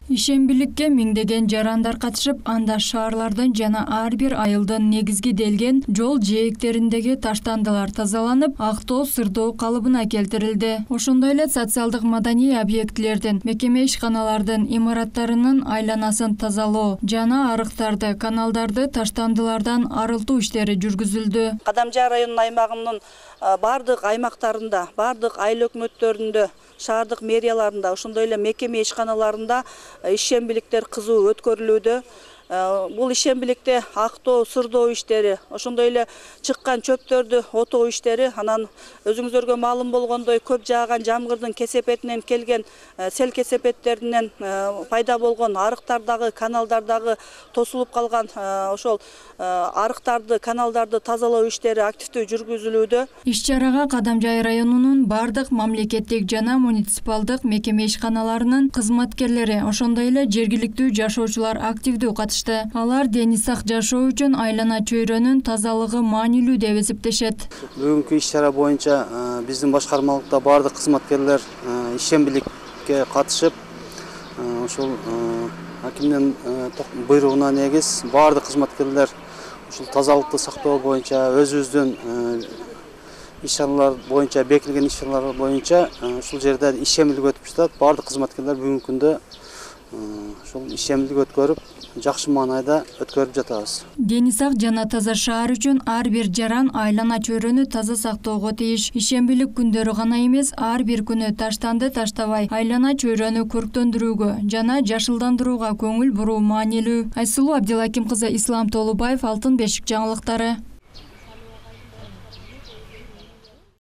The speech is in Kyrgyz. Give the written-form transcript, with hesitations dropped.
Ишембиликке миңдеген жарандар катышып, анда шаарлардан жана ар бир айылдын негизги делген жол жээктериндеги таштандылар тазаланып, актоо, сырдоо калыбына келтирилди. Ошондой эле социалдык маданий объектилердин, мекеме ишканалардын имараттарынын айланасын тазалоо жана арыктарды, каналдарды таштандылардан арылтуу иштери жүргүзүлдү. Кадамжай районунун аймагынын бардык аймактарында, бардык айыл өкмөттөрүндө, шаардык мэрияларында, ошондой эле мекеме ишканаларында ишембиликтер кызуу өткөрүлүүдө. Бул ишембиликте актоо, сырдоо иштери, ошондой эле чыккан чөптөрдү отоо иштери, анан өзүңүзөргө маалым болгондой көп жааган жамгырдын кесепетинен келген сел кесепеттеринен пайда болгон арыктардагы, каналдардагы тосулуп калган ошол арыктарды, каналдарды тазалоо иштери активдүү жүргүзүлүүдө. Иш-чарага Кадамжай районунун бардык мамлекеттик жана муниципалдык мекеме ишканаларынын кызматкерлери, ошондой эле жергиликтүү жашоочулар активдүү катышты. Алар дени сак жашоо үчүн айлана чөйрөнүн тазалыгы маанилүү деп эсептешет. Бүгүнкү иш-чара боюнча биздин башкармалыкта бардык кызматкерлер ишембиликке катышып, ошол акимдин буйругуна негиз бардык кызматкерлер ушул тазалыкты сактоо боюнча өзүбүздүн иш-чаралар боюнча бекитилген иш-чаралар боюнча ушул жерде ишембилик өтүп жатат. Бардык кызматкерлер бүгүнкү күндө ушул ишембилик өткөрүп, жакшы маанайда өткөрүп жатабыз. Дени сак жана таза шаар үчүн ар бир жаран айлана чөйрөнү таза сактоого тийиш. Ишембилик күндөрү гана эмес, ар бир күнү таштанды таштабай, айлана чөйрөнү көрктөндүрүүгө жана жашылдандырууга көңүл буруу маанилүү. Айсулуу Абдилаким кызы, Ислам Толубаев, Алтын бешик жаңылыктары.